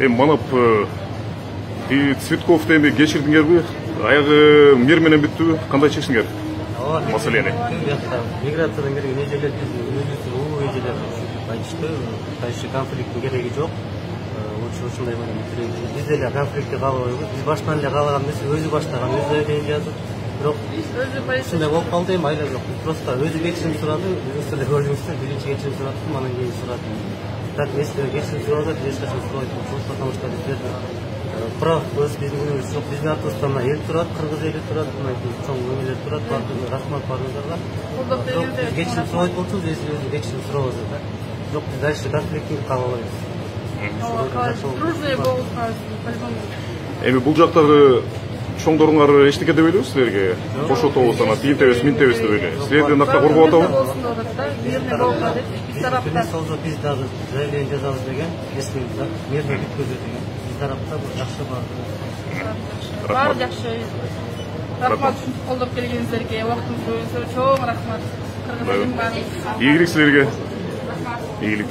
Эми манап Цветковду эми кечирдиңерби? Аягы мер менен бүттүбү? Кандай чечтиңер маселени? Миграциядан келген эжелер өзүбүздүн улуу эжелер айтышты. Кайсы конфликттин кереги жок. Ушундай биз деле конфликтти каалабайбыз. Биз баштан эле каалаган эмес, өзү баштаган, өзү эле жазып. Бирок ушундай болуп калды, эми айла жок. Просто өзү кечирим сурады, өзүңүз деле көрдүңүздөр, биринчи кечирим сурады, анан кийин сурады. Так эместе кечирим сурады, эч качан сурабайт. Потому что биздер прав өз биздин күнүбүз жок. Биздин артыбызда мына эл турат, кыргыз эли турат, мына чоң өмелер турат, рахмат баарыңыздарга. Кечирим сурабайт болчубуз, өзү кечирим сурабыз да. Жок, биз дальше конфликтти каалабайбыз. Дружный болуп по-любому. Эми бул жактагы чоңдоруңар эчтеке дебейбиз силерге? Кошотобуз, ана тиинтебиз, минтебиз деп эле. Силерди накта коргоп атабы? Мирный болуп атат. Биз тарапта биз дагы заявление жазабыз деген, если мирный бүткөзөт деген. Биз тарапта жакшы бар. Баары жакшы. Рахмат ушинтип колдоп келгениңиздерге, убактыңызды бөлгөнүңүзгө чоң рахмат. Кыргыз элин баары. Ийгилик силерге. Ийгилик.